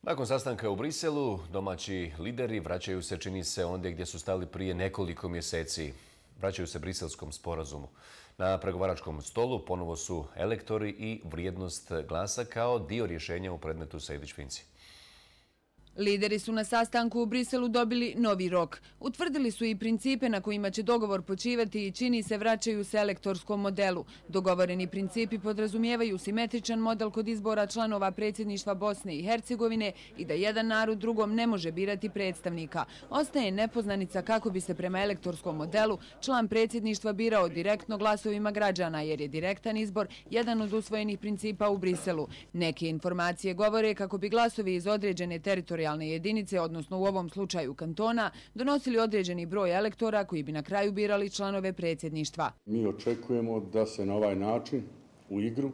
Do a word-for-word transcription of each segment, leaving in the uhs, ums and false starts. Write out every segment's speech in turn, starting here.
Nakon sastanka u Briselu, domaći lideri vraćaju se, čini se, ondje gdje su stali prije nekoliko mjeseci. Vraćaju se briselskom sporazumu. Na pregovaračkom stolu ponovo su elektori i vrijednost glasa kao dio rješenja u predmetu Sejdić-Finci. Lideri su na sastanku u Briselu dobili novi rok. Utvrdili su i principe na kojima će dogovor počivati i čini se vraćaju se elektorskom modelu. Dogovoreni principi podrazumijevaju simetričan model kod izbora članova predsjedništva Bosne i Hercegovine i da jedan narod drugom ne može birati predstavnika. Ostaje nepoznanica kako bi se prema elektorskom modelu član predsjedništva birao direktno glasovima građana, jer je direktan izbor jedan od usvojenih principa u Briselu. Neke informacije govore kako bi glasovi iz određene teritorijalne jedinice, odnosno u ovom slučaju kantona, donosili određeni broj elektora koji bi na kraju birali članove predsjedništva. Mi očekujemo da se na ovaj način u igru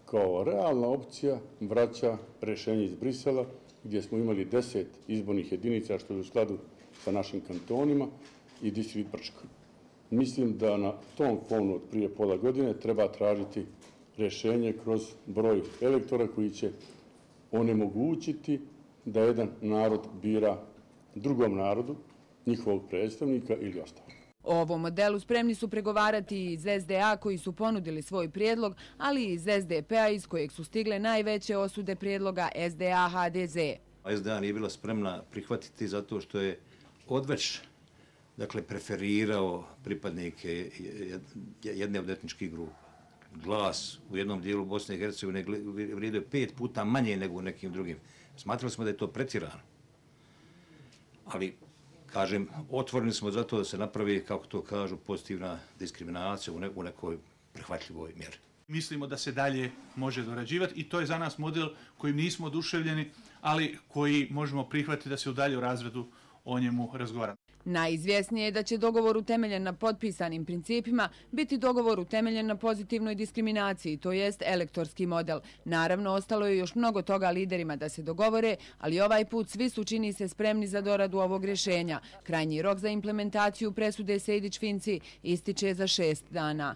kao realna opcija vraća rješenje iz Brisela, gdje smo imali deset izbornih jedinica što je u skladu sa našim kantonima i distrikt Brčko. Mislim da na tom fonu od prije pola godine treba tražiti rješenje kroz broj elektora koji će onemogućiti da jedan narod bira drugom narodu, njihovog predstavnika ili ostalo. O ovom modelu spremni su pregovarati iz S D A koji su ponudili svoj prijedlog, ali i iz S D P-a iz kojeg su stigle najveće osude prijedloga S D A H D Z. S D A nije bila spremna prihvatiti zato što je odveć dakle, preferirao pripadnike jedne od etničkih grupa. Glas u jednom dijelu Bosne i Hercegovine vrijedio pet puta manje nego u nekim drugim. Smatrali smo da je to pretjerano. Ali, kažem, otvoreni smo zato da se napravi, kako to kažu, pozitivna diskriminacija u nekoj prihvatljivoj mjeri. Mislimo da se dalje može dorađivati i to je za nas model kojim nismo oduševljeni, ali koji možemo prihvatiti da se u daljem razredu o njemu razgovara. Najizvjesnije je da će dogovor utemeljen na potpisanim principima biti dogovor utemeljen na pozitivnoj diskriminaciji, to jest elektorski model. Naravno, ostalo je još mnogo toga liderima da se dogovore, ali ovaj put svi su, čini se, spremni za doradu ovog rješenja. Krajnji rok za implementaciju presude Sejdić-Finci ističe za šest dana.